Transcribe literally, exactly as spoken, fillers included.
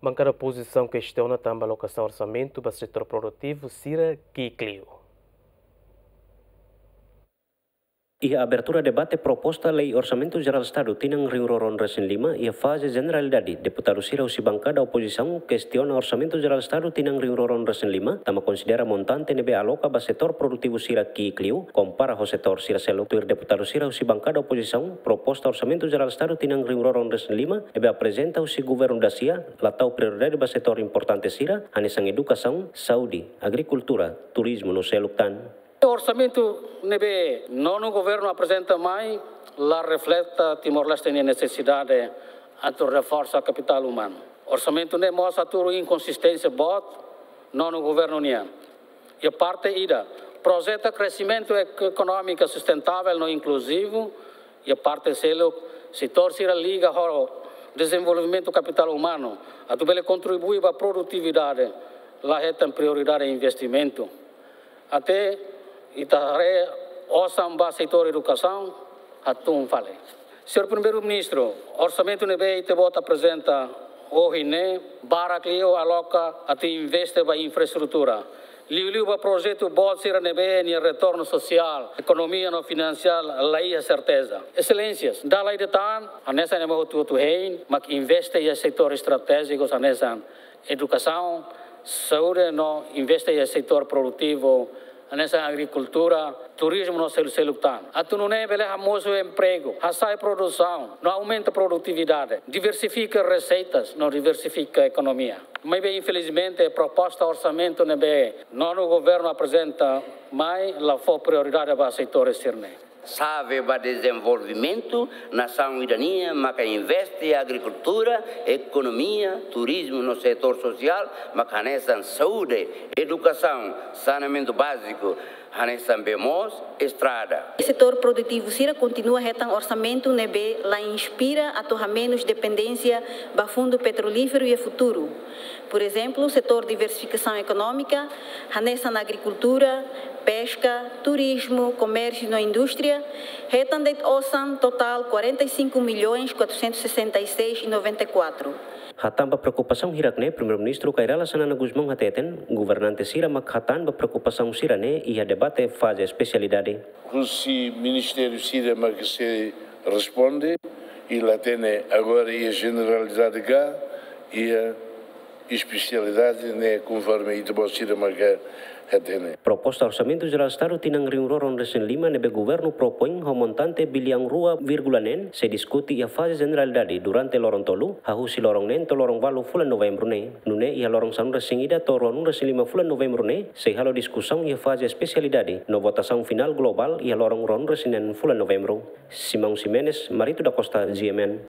Bankada opozisaun kestiona tanba alokasaun orsamentu ba setór produtivu sira ki'ik liu. Iha abertura debate proposta lei Orsamentu Jerál Estadu tinan rihun rua ruanulu-resin-lima iha faze jeneralidade, deputadu sira husi bankada opozisaun kestiona Orsamentu Jerál Estadu tinan rihun rua ruanulu-resin-lima, tanba konsidera montante ne'ebé aloka ba setór produtivu sira ki'ik liu, kompara ho setór sira seluk. Tuir deputadu sira husi bankada opozisaun, proposta Orsamentu Jerál Estadu tinan rihun rua ruanulu-resin-lima ne'ebé aprezenta husi governu dasia, la tau prioridade ba setór importante sira, hanesan edukasaun, saúde, agrikultura, turizmu no seluk tan. Orsamentu ne'ebé nonu governu aprezenta mai la refleta Timor-Leste nia nesesidade atu reforsa kapitál umanu. Orsamentu ne'e mós hatudu inkonsisténsia boot nonu governu nian. Iha parte ida, projeta kresimentu ek-, ekonómiku sustentável no inkluzivu, iha parte seluk, setór sira liga ho dezenvolvimentu kapitál umanu, atu bele kontribui ba produtividade, la hetan prioridade investimentu. Até ita haree osan ba setór edukasaun, hatún fali. Señór Primeiru-Ministru, orsamentu ne'ebé ita-boot aprezenta ohin ne'e, barak liu aloka atu investe ba infraestrutura. Liuliu ba projetu boot sira ne'ebé nia retornu sosiál, ekonomia no finansiál la iha serteza. Exelénsias, dala ida tan, hanesan ema hotu-hotu hein, mak investe iha setór estratéjiku hanesan edukasaun, saúde no investe iha setór produtivu, hanesan agrikultura, turizmu no selu-seluk tan. Atu nune'e bele hamosu empregu, hasa'e produsaun, no aumenta produtividade, diversifika reseitas, no diversifika ekonomia. Maibé, infelizmente, proposta orsamentu ne'ebé nonu governu aprezenta mai la fó prioridade ba setór sira-ne'e. Xave ba dezenvolvimentu nasaun ida-ne'e maka investe agrikultura, ekonomia, turizmu no setór sosiál, maka hanesan saúde, edukasaun, saneamentu báziku, hanesan bee moos, estrada. Setór produtivu sira kontinua hetan orsamentu ne'ebé la inspira atu hamenus dependénsia ba fundu petrolíferu iha futuru. Por ezemplu, setór diversifikasaun ekonómika, hanesan agrikultura, peska, turizmu, komérsiu no indústria, hetan de'it osan totál quarenta e cinco milhões quatrocentos e sessenta e seis e noventa e quatro. Hatán ba preokupasaun hirak-ne'e, Primeiru-Ministru Kay Rala Xanana Gusmão hateten, governante sira mak hatán ba preokupasaun sira-ne'e iha debate faze espesialidade. Husi ministériu sira mak sei responde, i la hatene agora iha jeneralidade ka iha espesialidade ne'e, konforme ita-boot sira mak hatene. Proposta Orsamentu Jerál Estadu tinan rihun rua ruanulu-resin-lima ne'ebé governu propoin ho montante biliaun rua vírgula neen sei diskute iha faze jeneralidade durante loron tolu, hahú husi loron neen to'o loron valu fulan Novembru ne'e. Nune'e iha loron sanulu-resin-ida to'o ruanulu-resin-lima fulan Novembru ne'e sei halo diskusaun iha faze espesialidade no votasaun finál globál iha loron ruanulu-resin-neen fulan Novembru. Simão Ximenes, Marito da Costa, G M N.